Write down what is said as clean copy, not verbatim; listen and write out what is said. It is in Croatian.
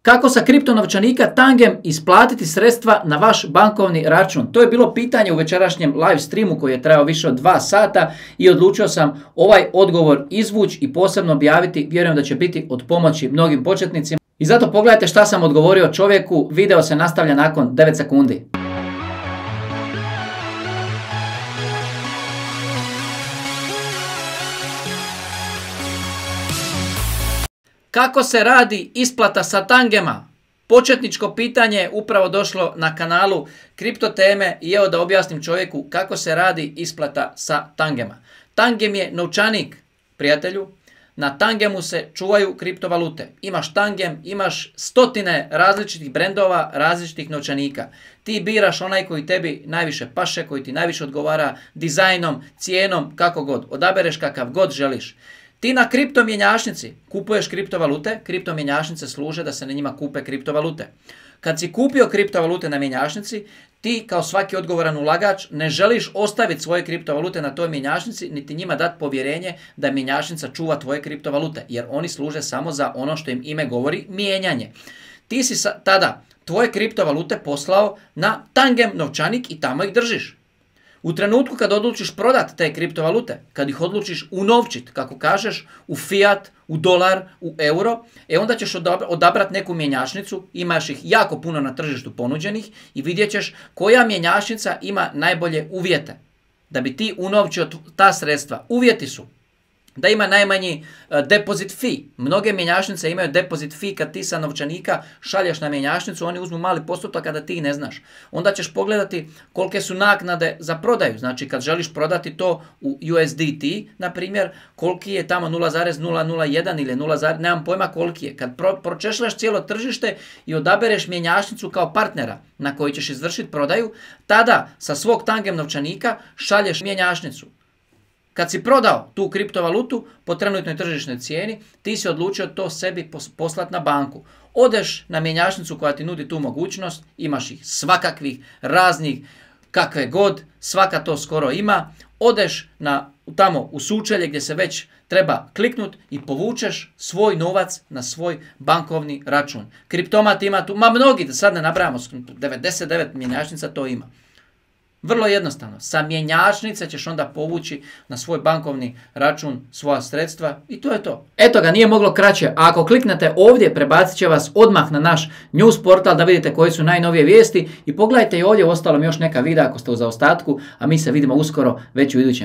Kako sa kriptonovčanika Tangem isplatiti sredstva na vaš bankovni račun? To je bilo pitanje u večerašnjem live streamu koji je trajao više od 2 sata i odlučio sam ovaj odgovor izvući i posebno objaviti. Vjerujem da će biti od pomoći mnogim početnicima. I zato pogledajte šta sam odgovorio čovjeku. Video se nastavlja nakon 9 sekundi. Kako se radi isplata sa Tangema? Početničko pitanje je upravo došlo na kanalu Kripto teme i evo da objasnim čovjeku kako se radi isplata sa Tangema. Tangem je novčanik, prijatelju. Na Tangemu se čuvaju kriptovalute. Imaš Tangem, imaš stotine različitih brendova, različitih novčanika. Ti biraš onaj koji tebi najviše paše, koji ti najviše odgovara dizajnom, cijenom, kako god. Odabereš kakav god želiš. Ti na kriptomjenjačnici kupuješ kriptovalute, kriptomjenjačnice služe da se na njima kupe kriptovalute. Kad si kupio kriptovalute na mjenjačnici, ti kao svaki odgovoran ulagač ne želiš ostaviti svoje kriptovalute na toj mjenjačnici, niti njima dati povjerenje da mjenjačnica čuva tvoje kriptovalute, jer oni služe samo za ono što im ime govori, mijenjanje. Ti si tada tvoje kriptovalute poslao na Tangem novčanik i tamo ih držiš. U trenutku kad odlučiš prodati te kriptovalute, kad ih odlučiš unovčiti, kako kažeš, u fiat, u dolar, u euro, onda ćeš odabrati neku mjenjačnicu, imaš ih jako puno na tržištu ponuđenih i vidjet ćeš koja mjenjačnica ima najbolje uvjete da bi ti unovčio ta sredstva. Uvjeti su da ima najmanji deposit fee. Mnoge mjenjačnice imaju deposit fee kad ti sa novčanika šalješ na mjenjačnicu, oni uzmu mali postotak kada ti ne znaš. Onda ćeš pogledati kolike su naknade za prodaju. Znači kad želiš prodati to u USDT, na primjer, koliki je tamo 0,001 ili 0, nemam pojma koliki je. Kad pročešljaš cijelo tržište i odabereš mjenjačnicu kao partnera na koji ćeš izvršiti prodaju, tada sa svog Tangem novčanika šalješ mjenjačnicu. Kad si prodao tu kriptovalutu po trenutnoj tržišnoj cijeni, ti si odlučio to sebi poslati na banku. Odeš na mjenjačnicu koja ti nudi tu mogućnost, imaš ih svakakvih, raznih, kakve god, svaka to skoro ima. Odeš tamo u sučelje gdje se već treba kliknut i povučeš svoj novac na svoj bankovni račun. Kriptomat ima tu, mnogi, da sad ne nabrajamo, 99 mjenjačnica to ima. Vrlo jednostavno, sa mjenjačnice ćeš onda povući na svoj bankovni račun svoja sredstva i to je to. Eto ga, nije moglo kraće. A ako kliknete ovdje, prebacit će vas odmah na naš news portal da vidite koji su najnovije vijesti i pogledajte i ovdje, uostalom još neka videa ako ste u zaostatku, a mi se vidimo uskoro već u idućem.